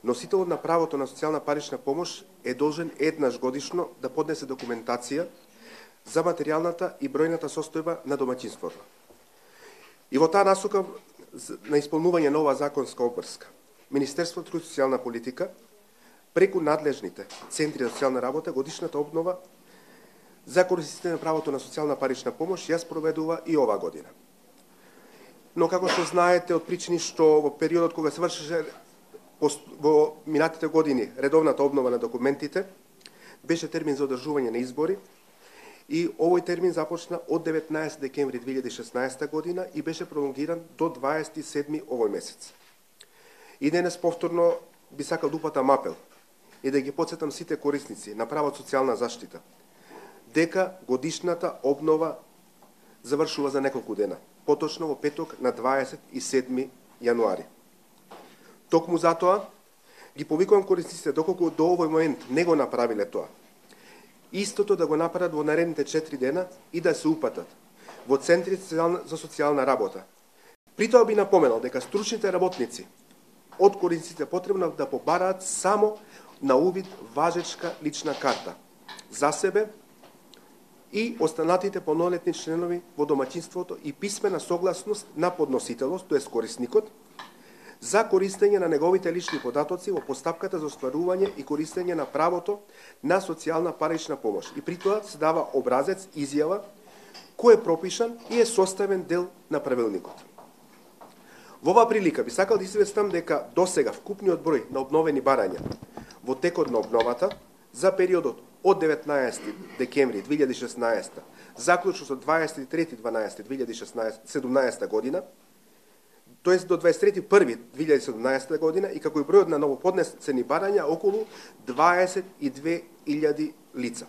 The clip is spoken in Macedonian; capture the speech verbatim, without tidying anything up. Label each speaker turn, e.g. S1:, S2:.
S1: носителот на правото на социјална парична помош е должен еднаш годишно да поднесе документација за материјалната и бројната состојба на домаќинството. И во таа насока на исполнување на оваа законска обврска, Министерството труд и социјална политика преку надлежните центри за социјална работа годишната обнова за корисниците на правото на социјална парична помош ја спроведува и оваа година. Но како што знаете од причини што во периодот кога се вршеше во минатите години редовната обнова на документите, беше термин за одржување на избори и овој термин започна од деветнаесети декември две илјади и шеснаесета година и беше пролонгиран до дваесет и седми овој месец. И денес повторно би сакал да упатам апел и да ги потсетам сите корисници на право социјална заштита дека годишната обнова завршува за неколку дена, поточно во петок на дваесет и седми јануари. Токму затоа ги повикувам корисниците доколку до овој момент не го направиле тоа, истото да го направат во наредните четири дена и да се упатат во центрите за социјална работа. При тоа би напоменал дека стручните работници од корисниците потребно да побараат само на увид важечка лична карта за себе и останатите полнолетни членови во домаќинството и писмена согласност на подносителот, тоест корисникот, за користење на неговите лични податоци во постапката за остварување и користење на правото на социјална парична помош. И при тоа се дава образец, изјава, кој е пропишан и е составен дел на правилникот. Во оваа прилика би сакал да известам дека досега вкупниот број на обновени барања во текот на обновата за периодот од деветнаесети декември две илјади и шеснаесета заклучно со дваесет и трети дванаесети две илјади и седумнаесета година, тоест до дваесет и трети први две илјади и седумнаесета година, и како и бројот на новоподнесени барања околу дваесет и две илјади лица.